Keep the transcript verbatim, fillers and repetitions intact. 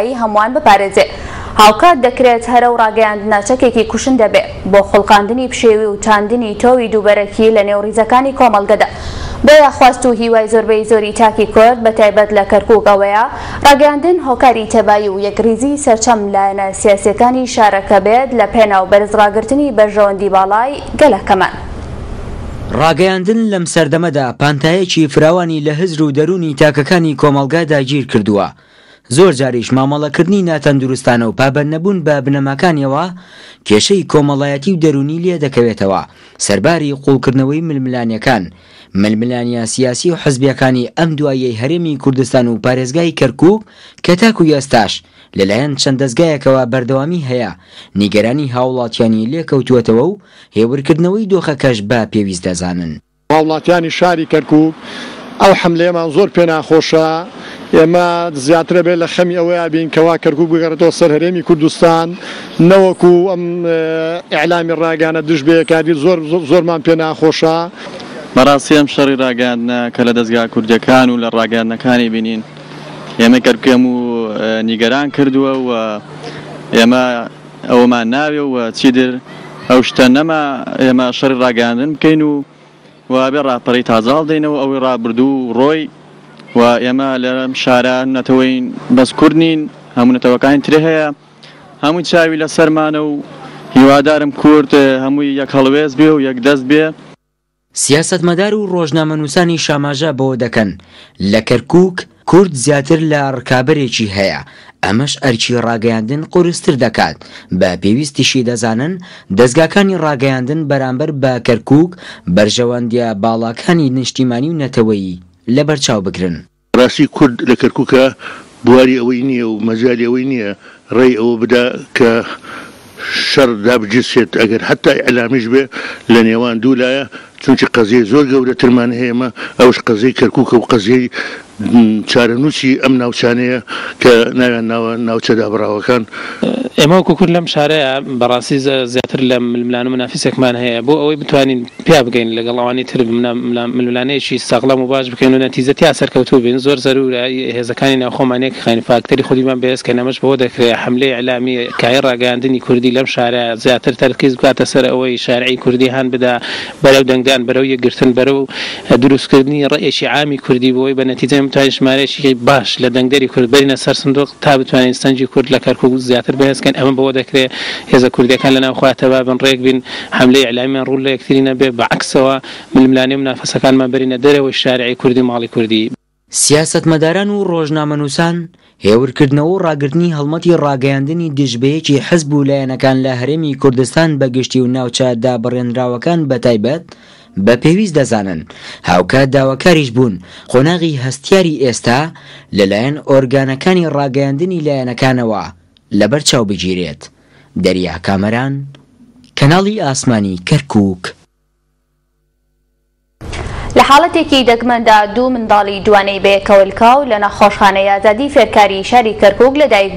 هەمووان بپارێزێ. هاوکات دەکرێت هەرە و ڕاگەیاندنە چەکێکی کوشندە بێ بۆ خوڵقاندنی پشێوی و چاندنی تۆوی دووبەرەکی لە نێو ڕیزەکانی کۆمەڵگەدا. بۆیە خواست و هیوای زۆربەی زۆری تاکی کورد بە تایبەت لە کەرکووک ئەوەیە ڕاگەیاندن هۆکاری تەبایی و یەکریزی سەرچەم لایەنە سیاسیەکانی شارەکە بێت لە پێناو بەرزڕاگرتنی بەرژەوەندی باڵای گەلەکەمان. ڕاگەیاندن لەم سەردەمەدا پانتایەکی فراوانی لە هزر و دەروونی تاکەکانی کۆمەڵگا داگیر کردووە. زۆر جاریش مامەڵەکردنی ناتەندروستانە و پابەندنەبوون بە بنەماکانیەوە کێشەی کۆمەڵایەتی و دەروونی لێ دەکەوێتەوە. سەرباری قوڵکردنەوەی ململانیەکان، ململانیە سیاسی و حزبیەکانی ئەم دواییەی هەرێمی کوردستان و پارێزگای کەرکووک کە تاکو ئێستاش لەلایەن چەند دەزگایەکەوە بەردەوامی هەیە، نیگەرانی هاوڵاتیانی لێکەوتووەتەوە و هێورکردنەوەی دۆخەکەش بە پێویست دەزانن. هاوڵاتیانی شاری کەرکووک ئەو حملەیەمان زۆر پێناخۆشە. ئێمە زیاترە بێت لە خەمی ئەوەیە بین کەوا کەرکووک بگەڕێتەوە سەر هەرێمی کوردستان، نەوەکو ئەم ئیعلامی ڕاگەیاندنە دژ بەیەکاری زۆر زۆرمان پێناخۆشە. بەڕاستی ئەم شەڕی ڕاگەیاندنە کە لە دەستگا کوردیەکان و لە ڕاگەیاندنەکانی بینین ئێمە کەرکووکێم و نیگەران کردووە و ئێمە ئەوەمان ناوێ و چیدر ئەو شتە نەما ئێمە شەڕی ڕاگەیاندن بکەین و وابێ ڕاپەڕی تازاڵ دەینەوە ئەوەی ڕابردوو ڕۆی و ئێمە لەم شارە نەتەوەین بەس کورد نین، هەموو نەتەوەکانی ترێ هەیە، هەمووی چاوی لەسەرمانە و هیوادارم کورد هەمووی یەک هەڵوێست بێ و یەک دەست بێ. سیاسەتمەدار و ڕۆژنامەنووسانی شاماژە بەوە دەکەن لە کەرکووک کورد زیاتر لە ڕکابەرێکی هەیە، ئەمەش ئەرکی ڕاگەیاندن قورستر دەکات. بە پێویستیشی دەزانن دەزگاکانی ڕاگەیاندن بەرامبەر بە کەرکووک بەرژەوەندیە باڵاکانی نیشتیمانی و نەتەوەیی لەبەرچاو بگرن. ڕاستی کورد لە کەرکووکە بواری ئەوەی نییە و مەجالی ئەوەی نییە ڕێی ئەوە بدا کە شەڕ دابگیرسێت، ئەگەر حتا ئیعلامیش بێ لە نێوان دوو لایە، چونکی قەزیەی زۆر گەورەترمان هەیە، ئەوش قەزیەی کەرکووکە و قەزیەی چارەنووسی ئەم ناوچانەیە کە ناویان ناوە ناوچە دابڕاوەکان. ئێمە وەکو کورد لەم شارەیە بەڕاستی زیاتر لە ململان و منافسێکمان هەیە بۆ ئەوەی بتوانین پیا بگەین لەگەڵ ئەوانی تر ململانەیەکی ساغلەم و باش بکەین و نەتیجە تیا سەرکەوتوو بین. زۆر زەرورە هێزەکانی ناوخۆمان یەکخەین، فاکتەری خودیمان بەهێزکەین. ئەمەش بەوە دەکرێت حملەی ئیعلامی کای ڕاگەیاندنی کوردی لەم شارە زیاتر تەرکیز بکاتە سەر ئەوەی شارعی کوردی هان بدا بەرەو دەنگدان، بەرەو یەکگرتن، بەرەو دروستکردنی ڕەئێکی عامی کوردی بۆی بە نەتیجە بتوانین ژمارەیەکی باش لە دەنگدەری کورد بەرینە سەر سندوق تا بتوانین سەنجی کورد لە کەرکووک زیاتر بەهێزکەین. ئەمە بەوە دەکرێت هێزە کوردیەکان لە ناو خۆیان تەبا بن، ڕێک بین، حملەی ئیعلامیمان ڕوو لە یەکتری نەبێ، بەعەکسەوە ململانێ و منافەسەکانمان بەرینە دەرەوەی شارعی کوردی ماڵی کوردی. سیاسەتمەداران و ڕۆژنامەنووسان هێورکردنەوە و ڕاگرتنی هەڵمەتی ڕاگەیاندنی دژبەیەکی حزب و لایەنەکان لە هەرێمی کوردستان بەگشتی و ناوچە دابڕێنراوەکان بەتایبەت بە پێویست دەزانن. هاوکات داواکاریش بوون قۆناغی هەستیاری ئێستا لەلایەن ئۆرگانەکانی ڕاگەیاندنی لایەنەکانەوە لەبەرچاو بگیرێت. دەریا کامەران، کەناڵی ئاسمانی کەرکووک. لە حاڵەتێکی دەگمەندا دوو منداڵی دوانەی بەیەکەوەلکاو لە نەخۆشخانەی ئازادی فێرکاری شاری کەرکووک لەدایک